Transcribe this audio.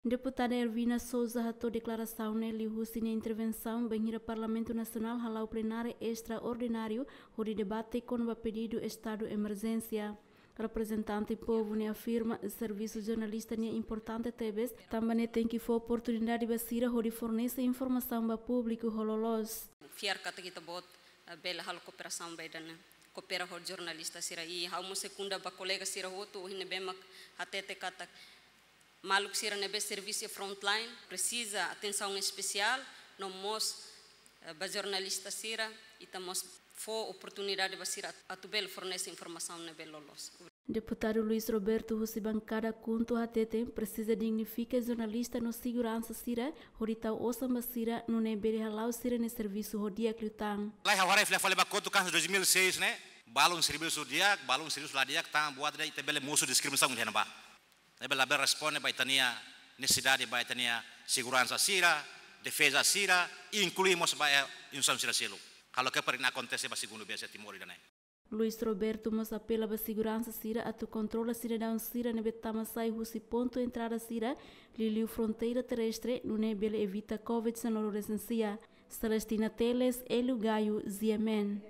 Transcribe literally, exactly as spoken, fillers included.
Deputada Ervina Sousa hato'o deklarasaun ne'e liuhusi nia intervensaun bainhira Parlamentu Nasionál hala'o plenária estraordináriu hodi debate kona-ba pedidu estadu emerjénsia. Reprezentante povu ne'e afirma servisu jornalista ne'e importante tebes, tanba ne'e tenke fó oportunidade ba sira hodi fornese informasaun ba públiku ho loloos. Fiar katak ita-boot, eh, bele halo kooperasaun ba ida-ne'e, koopera ho jornalista sira. I ha'u mós sekunda ba kolega sira hotu, ohin ne'ebé mak hatete katak maluk sira ne'ebé servisu iha frontline presiza atensaun espesiál, no mós, eh, ba jornalista sira, ita mós fó oportunidade ba sira atu bele fornese informasaun ne'ebé loloos. Deputadu Luis Roberto husi bankada KHUNTO hateten presiza dignifika jornalista no seguransa sira, hodi tau osan ba sira, nune'e bele hala'o sira-nia servisu ho di'ak liután. Lae, ha'u haree fila fali ba kotuk hanesan dois mil e seis ne'e, balun servisu di'ak, balun servisu la di'ak, tan buat ida ita bele mosu diskriminasaun iha ne'ebá. Ne'ebé labele responde ba ita-nia nesesidade, ba ita-nia seguransa sira, defeza sira, inklui mós ba, eh, instituisaun sira seluk. Halo ke para ne'e akontese ba segundu vez iha Timor ida-ne'e. Luis Roberto mós apela ba seguransa sira atu kontrola sidadaun sira ne'ebé tama sai husi pontu entrada sira, liuliu fronteira terrestre, nune'e bele evita COVID dezenove resensia. Celestina Teles, Hélio Gaio, G M N.